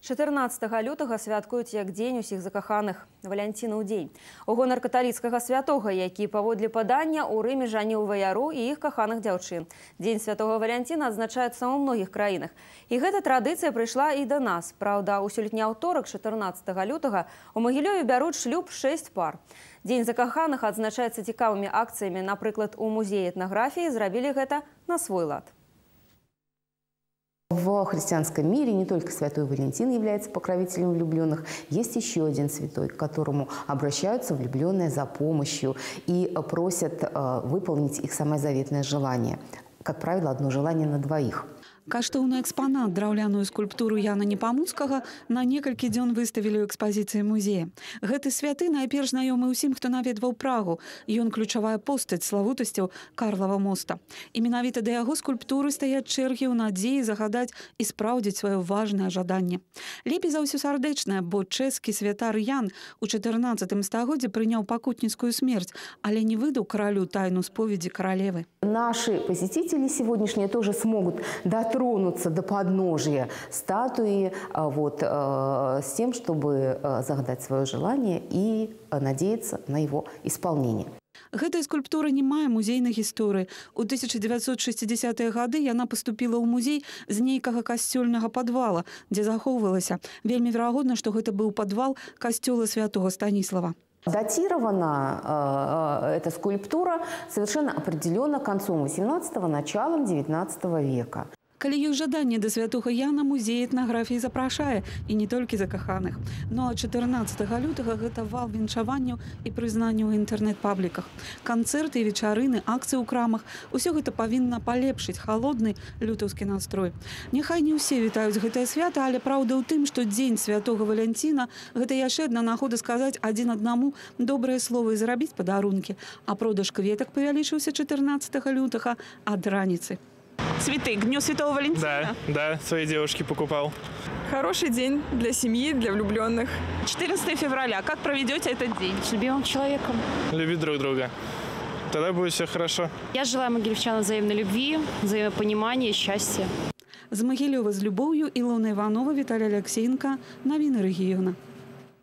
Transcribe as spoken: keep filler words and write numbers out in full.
чатырнаццатага лютага святкуюць як дзень усіх закаханых, валянцінаў дзень. У гонар каталіцкага святога, які паводле падання ў Рыме жаніў ваяру і іх каханых дзяўчын. Дзень святого Валянціна адзначаецца ў многіх краінах. І гэта традыцыя прыйшла і да нас. Праўда, у сёлетні аўторак, чатырнаццатага лютага, у Магілёве бяруць шлюб шэсць пар. Дзень закаханых адзначаецца цікавымі акцыямі. Напрыклад, у музеі этнаграфіі зрабілі гэта на свой лад. В христианском мире не только святой Валентин является покровителем влюбленных, есть еще один святой, к которому обращаются влюбленные за помощью и просят э, выполнить их самое заветное желание. Как правило, одно желание на двоих. Каштоўны экспанат, драўляную скульптуру Яна Непамуцкага, на некалькі дзён выставілі ў экспазіцыі музея. Гэты святы найперш знаёмы ўсім, хто наведваў Прагу. Ён ключавая постаць славутасцяў Карлава моста. І менавіта да яго скульптуры стаяць чэргі ў надзеі загадаць і спраўдзіць сваё важнае жаданне. Лепей за ўсё сардэчнае, бо чэшскі святар Ян у чатырнаццатым стагоддзі прыняў пакутніцкую смерць, але не выдаў каралю тайну споведзі каралевы. Наши посетители сегодняшние тоже смогут дотронуться тронуться до подножия статуи вот, с тем, чтобы загадать свое желание и надеяться на его исполнение. Гэтая скульптура не мае музейнай гісторыі. У тысяча дзевяцьсот шэсцідзясятыя гады яна паступіла ў музей з нейкага касцёльнага падвала, дзе захоўвалася. Вельмі верагодна, што гэта быў падвал касцёла святого Станіслава. Датирована э, эта скульптура совершенно определенно концом восемнадцатого, началом девятнадцатого века. Калі ёсць жаданне да святога Яна, музей этнаграфіі запрашае, і не толькі закаханых. Ну а чатырнаццатага лютага гэта вал віншаванняў і прызнанняў у інтэрнэт-пабліках. Канцэрты, вечарыны, акцыі ў крамах – усё гэта павінна палепшыць халодны лютаўскі настрой. Няхай не ўсе вітаюць гэтае свята, але праўда ў тым, што дзень святога Валянціна – гэта яшчэ адна нагода сказаць адзін аднаму добрыя словы і зарабіць падарункі. А продаж кветак павялічыўся чатырнаццатага лютага ад раніцы. Цветы к Дню Святого Валентина? Да, да, своей девушке покупал. Хороший день для семьи, для влюбленных. четырнадцатого февраля. Как проведете этот день? С любимым человеком. Любить друг друга. Тогда будет все хорошо. Я желаю могилевчанам взаимной любви, взаимопонимания, счастья. З Магілёва з любоўю Ілона Іванова, Віталій Алексеенко. Навіны рэгіёна.